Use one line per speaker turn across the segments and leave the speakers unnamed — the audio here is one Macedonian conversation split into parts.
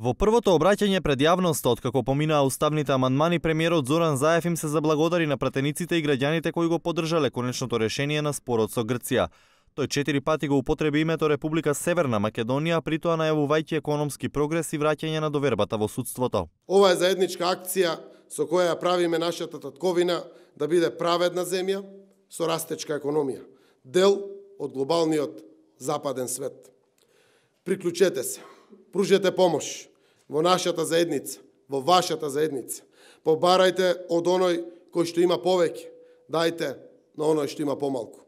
Во првото обраќање пред јавноста откако поминаа уставните амандмани, премиерот Зоран Заев им се заблагодари на пратениците и граѓаните кои го поддржале конечното решение на спорот со Грција. Тој 4 пати го употреби името Република Северна Македонија, притоа најавувајќи економски прогрес и враќање на довербата во судството.
Ова е заедничка акција со која ја правиме нашата татковина да биде праведна земја со растечка економија, дел од глобалниот западен свет. Приклучете се, пружете помош во нашата заедница, во вашата заедница. Побарајте од оној кој што има повеќе, дајте на оној што има помалку.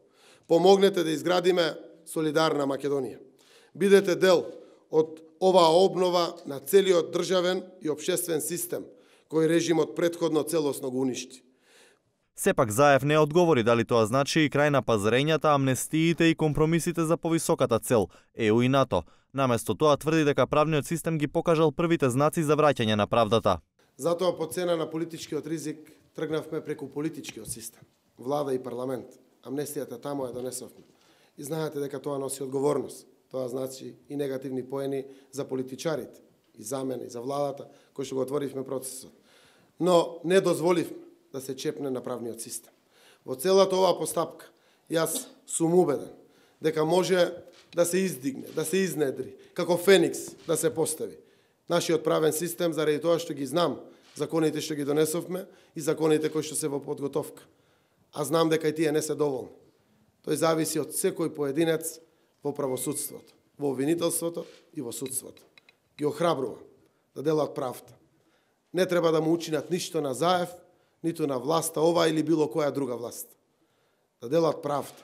Помогнете да изградиме солидарна Македонија. Бидете дел од оваа обнова на целиот државен и општествен систем, кој режимот претходно целосно го уништи.
Сепак Заев не одговори дали тоа значи и крај на пазарењата, амнестиите и компромисите за повисоката цел ЕУ и НАТО. Наместо тоа тврди дека правниот систем ги покажал првите знаци за враќање на правдата.
Затоа по цена на политичкиот ризик тргнавме преку политичкиот систем, влада и парламент. Амнестијата таму ја донесовме. И знаете дека тоа носи одговорност. Тоа значи и негативни поени за политичарите, и за мене, и за владата, кои што го отворивме процесот. Но не дозволивме да се чепне на правниот систем. Во целата оваа постапка, јас сум убеден дека може да се издигне, да се изнедри, како феникс да се постави нашиот правен систем, заради тоа што ги знам законите што ги донесовме и законите кои што се во подготовка. А знам дека и тие не се доволни. Тој зависи од секој поединец во правосудството, во обвинителството и во судството. Ги охрабрува да делат правда. Не треба да му учинат ништо на Заев, ниту на власта ова или било која друга власт. Да делат правда.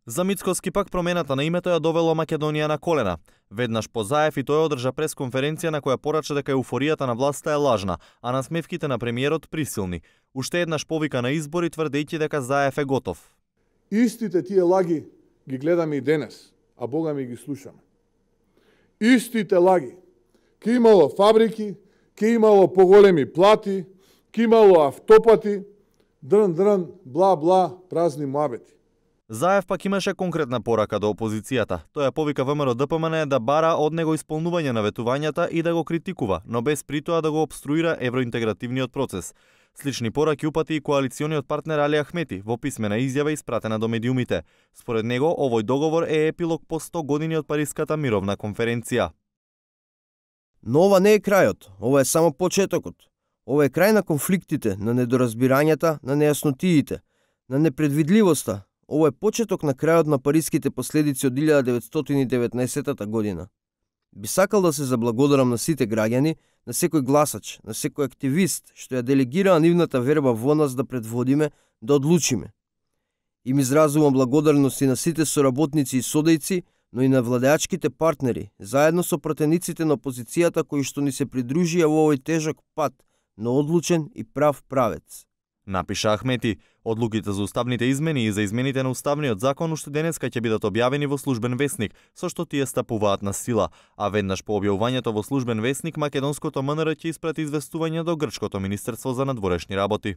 За Мицкоски пак промената на името ја довело Македонија на колена. Веднаш по Заев и тој одржа пресконференција на која порача дека еуфоријата на власта е лажна, а насмевките на премиерот присилни. Уште еднаш повика на избори тврдејќи дека Заев е готов.
Истите тие лаги ги гледаме и денес, а Бога ми ги слушаме. Истите лаги. Ке имало фабрики, ке имало поголеми плати, ке имало автопати, дрн, бла, празни муабети.
Заев пак имаше конкретна порака до опозицијата. Тој ја повика ВМРО ДПМН да бара од него исполнување на ветувањата и да го критикува, но без притоа да го обструира евроинтегративниот процес. Слични пораки упати и коалициониот партнер Али Ахмети во писмена изјава испратена до медиумите. Според него, овој договор е епилог по 100 години од Париската мировна конференција.
Но ова не е крајот, ова е само почетокот. Ова е крај на конфликтите, на недоразбирањата, на нејаснотиите, на непредвидливоста. Ова е почеток на крајот на париските последици од 1919 година. Би сакал да се заблагодарам на сите граѓани, на секој гласач, на секој активист, што ја делегираа нивната верба во нас да предводиме, да одлучиме. Им изразувам благодарност и на сите соработници и содејци, но и на владеачките партнери, заедно со пратениците на опозицијата кои што ни се придружија во овој тежок пат, но одлучен и прав правец.
Напиша Ахмети. Одлуките за уставните измени и за измените на уставниот закон уште денеска ќе бидат објавени во службен весник, со што тие стапуваат на сила, а веднаш по објавувањето во службен весник македонското МНР ќе испрати известување до грчкото Министерство за надворешни работи.